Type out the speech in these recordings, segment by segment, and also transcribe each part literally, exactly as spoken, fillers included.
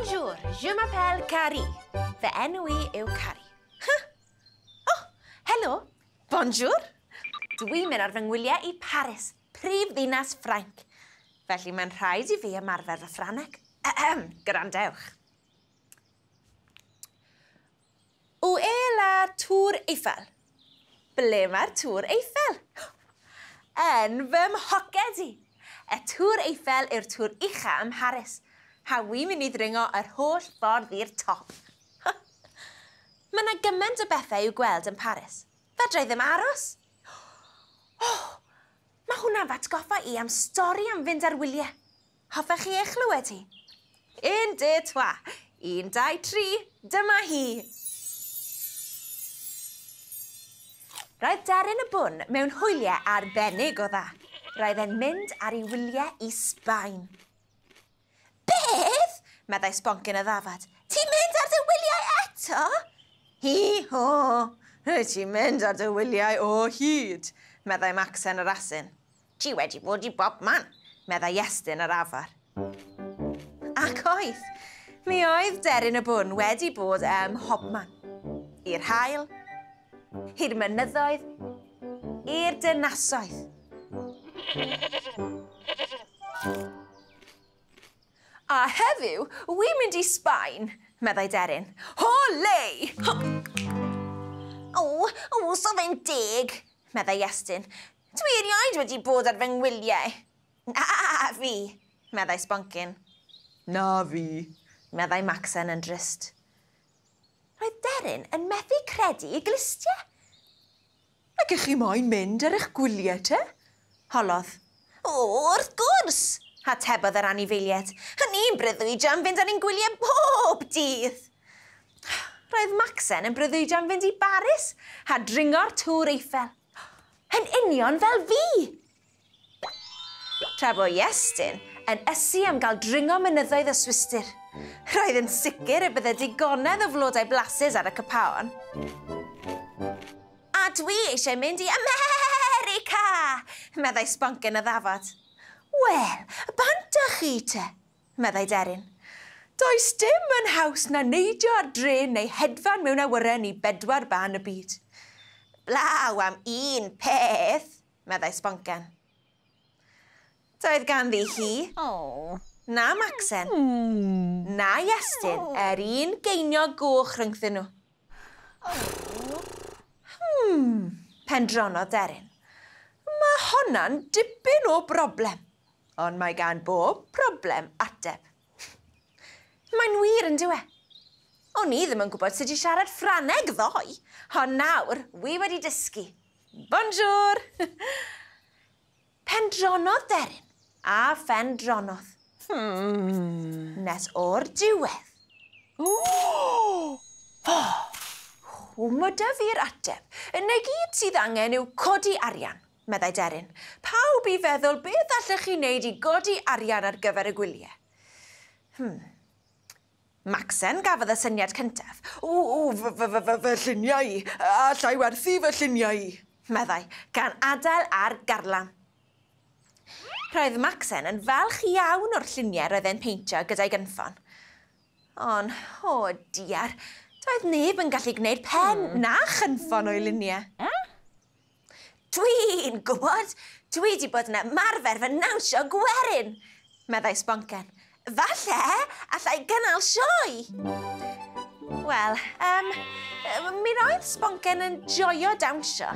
Bonjour, je m'appelle Carrie. Fy enw i yw Carrie. Huh? Oh, helo, bonjour. Dwi'n mynd ar fy ngwyliau i Paris, prif ddinas Ffrainc. Felly mae'n rhaid i fi ymarfer fy Ffrangeg. Ahem, gwrandewch. Où est la Tour Eiffel? Ble mae'r Tŵr Eiffel? Yn fy mhoced i. Y Tŵr Eiffel yw'r tŵr ucha ym Mharis. A wi'n mynd i ddringo yr holl ffordd i'r top. Mae yna gymaint o bethau i'w gweld yn Paris. Fedra i ddim aros. Oh, mae hwnna'n fy atgoffa i am stori am fynd ar wyliau. Hoffech chi ei chlywed hi? Un, deux, trois. Un, dau, tri. Dyma hi. Roedd Deryn y Bwn mewn hwyliau arbennig o dda. Roedd e'n mynd ar ei wyliau i Sbaen. Beth? Meddai Sboncyn y ddafad. Ti'n mynd ar dy wyliau eto? Hi-ho, rwyt ti'n mynd ar dy wyliau o hyd, meddai Macsen yr asyn. Ti wedi bod i bob man, meddai Iestyn yr afar. Ac oedd, mi oedd Deryn y Bwn wedi bod ym mhobman. I'r haul, i'r mynyddoedd, i'r dynasoedd. A heddiw, wi'n mynd i Sbaen, meddai Deryn. Olé! O, o, so fe'n deg, meddai Iestyn. Dwi erioed wedi bod ar fy ngwyliau. Na fi, meddai Sboncyn. Na fi, meddai Macsen yn drist. Roedd Deryn yn methu credu ei glustiau. Ac ych chi moyn mynd ar eich gwyliau te? Holodd. O, wrth gwrs! Atebodd yr anifeiliaid. Ni'n breuddwydio am fynd ar ein gwyliau bob dydd. Roedd Macsen yn breuddwydio am fynd i Baris a dringo'r Tŵr Eiffel. Yn union fel fi! Tra bo Iestyn yn ysu am gael dringo mynyddoedd y Swistir. Roedd yn sicr y bydde digonedd o flodau blasus ar y copaon. A dwi eisiau mynd i America, meddai Sboncyn y ddafad. Wel, bant â chi te, meddai Deryn. Does dim yn haws na neidio ar drên neu hedfan mewn awyren i bedwar ban y byd. Blaw am un peth, meddai Sboncen. Doedd ganddi hi, oh. na Macsen, mm. na Iestyn, er un geiniog goch rhyngthyn nhw. Oh. Hmm, pendronodd Deryn. Mae honna'n dipyn o broblem. Ond mae gan bob problem ateb. Mae'n wir yn dyw e. O'n i ddim yn gwybod sut i siarad Ffrangeg ddoe, ond nawr wi wedi dysgu. Bonjour! Pendronodd Deryn a phendronodd. Hmm. Nes o'r diwedd. O! Oh, mae 'da fi'r ateb. Yna gyd sydd angen yw codi arian, meddai Deryn. Pawb i feddwl beth allech chi wneud i godi arian ar gyfer y gwyliau. Hmm. Macsen gafodd y syniad cyntaf. O, o, fy, fy, fy, fy lluniau i. Alla i werthu fy lluniau i, meddai, gan adael ar garlam. Roedd Macsen yn falch iawn o'r lluniau roedd e'n peintio gyda'i gynffon. Ond, o diar, doedd neb yn gallu gwneud pen hmm. na chynffon o'i luniau. Dwi'n gwybod, dwi wedi bod yn ymarfer fy nawnsio gwerin, meddai Sboncen. Falle, allai gynnal sioe. Wel, um, mi roedd Sboncen yn joio dawnsio.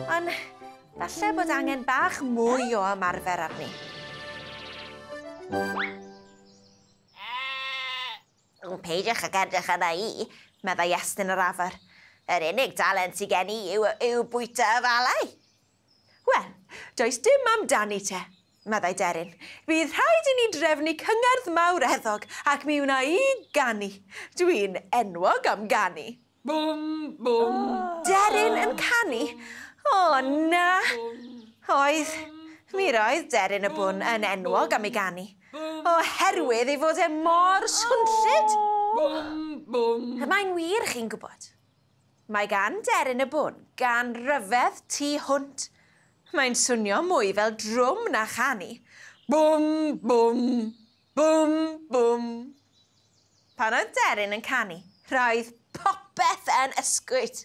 Ond falle bod angen bach mwy o ymarfer arni. Peidiwch ag edrych arna i, meddai Iestyn yr afar. Yr unig dalent sydd gen i yw, yw bwyta afalau. Wel, does dim amdani te, meddai Deryn. Bydd rhaid i ni drefnu cyngerdd mawreddog ac mi wna i ganu. Dwi'n enwog am ganu. Bwm, bwm. Deryn yn canu? O, na. Oedd, mi roedd Deryn y Bwn yn enwog am ei ganu. Oherwydd ei fod e mor swnllyd. Bwm, bwm. Mae'n wir, chi'n gwybod. Mae gan Deryn y Bwn gan ryfedd tu hwnt. Mae'n swnio mwy fel drwm na chanu. Bwm, bwm, bwm, bwm. Pan oedd deryn yn canu, roedd popeth yn ysgwyd.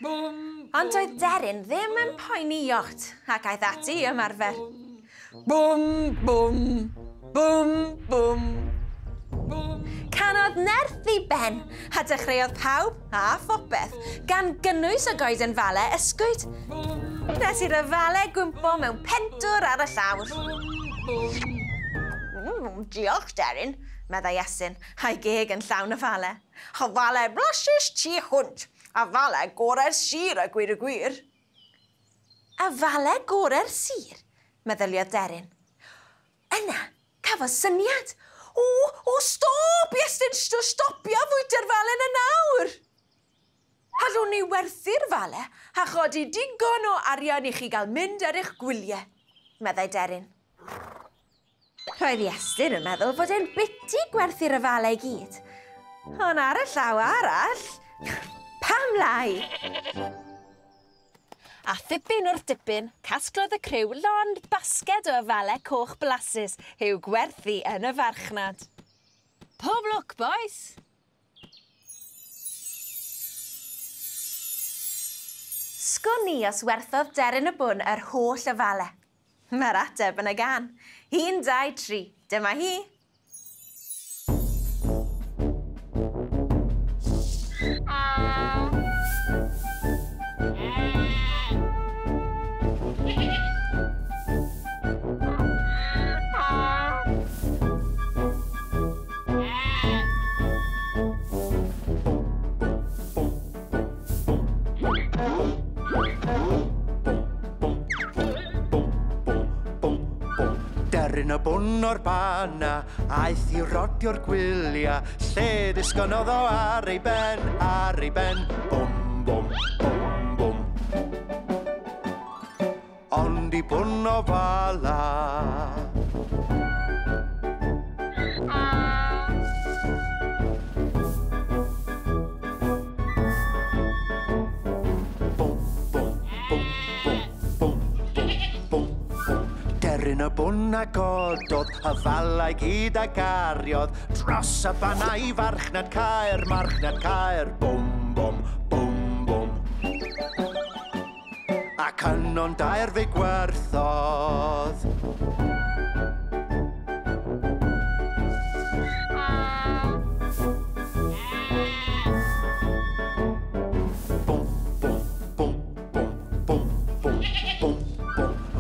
Bwm, Ond doedd deryn ddim yn poeni iot ac aeth ati i ymarfer. Bwm, bwm, bwm, bwm, bwm. Canodd nerth i ben a dechreuodd pawb a phopeth gan gynnwys y goeden fale ysgwyd. Nes i'r fale gwympo mewn pentwr ar y llawr. Mm, diolch, deryn, meddai Iestyn, a'i geg yn llawn o fale. O fale blasus tu hwnt, a fale gorau'r sir a gwir y gwir. A fale gorau'r sir, meddyliodd deryn. Yna, cafodd syniad. O, o, stop, Iestyn, stopia fwyta'r fale yna nawr. Allwn ni werthu'r fale a chodi digon o arian i chi gael mynd ar eich gwyliau, meddai deryn. Roedd Iestyn yn meddwl fod e'n biti gwerthu'r afalau i gyd. Ond ar y llaw arall, pam lai? A thipyn wrth dipyn, casglodd y criw lond basged o afalau coch blasus i'w gwerthu yn y farchnad. Pob lwc, boys! Sgwn i os werthodd deryn y bwn yr holl afalau. Mae'r ateb yn y gan. Un, dau, tri. Dyma hi. Deryn y bwn o'r banna, aeth i rodio'r gwylia, lle disgynnodd o ar ei ben, ar ei ben, bwm, bwm, bwm, bwm. Ond i bwn o fala. Bwm, bwm, bwm, bwm, bwm, bwm, bwm. Deryn y bwn a gododd, y falau gyd a gariodd, dros y banna i farchnad Caer, marchnad Caer, bwm, bwm, bwm, bwm. Ac yno'n dair fe gwerthodd. Bwm, bwm, bwm, bwm, bwm, bwm, bwm, bwm.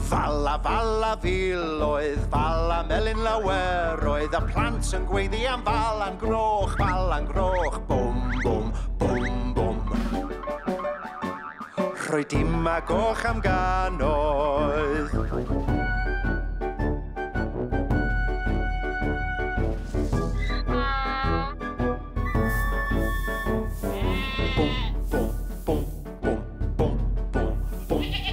Fala, fala filoedd, fala melyn lawer oedd, y plant yn gweiddi am fala'n groch, fala'n groch, bwm, bwm, bwm, bwm. Rhoi dim a goch am gannoedd. Bwm, bwm, bwm, bwm, bwm, bwm, bwm,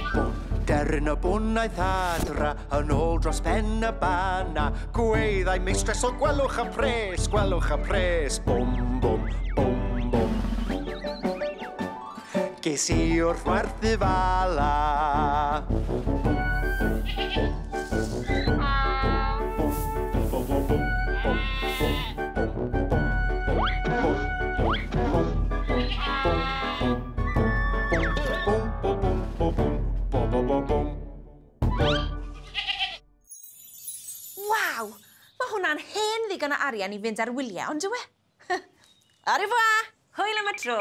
bwm. Deryn y bwn aeth adra, yn ôl dros ben y banna, gweddai meistres o gwelwch y pres, gwelwch y pres, bwm, bwm, bwm, bwm. Ges i wrth werthu fala. Bwm, bwm, bwm, bwm, bwm, bwm, bwm, bwm, bwm, bwm, bwm, bwm, bwm, bwm, bwm, bwm, bwm, bwm. Waw! Mae hwnna'n hen ddigon o arian i fynd ar wyliau, ond dyw e? Au revoir! Hwyl am y tro!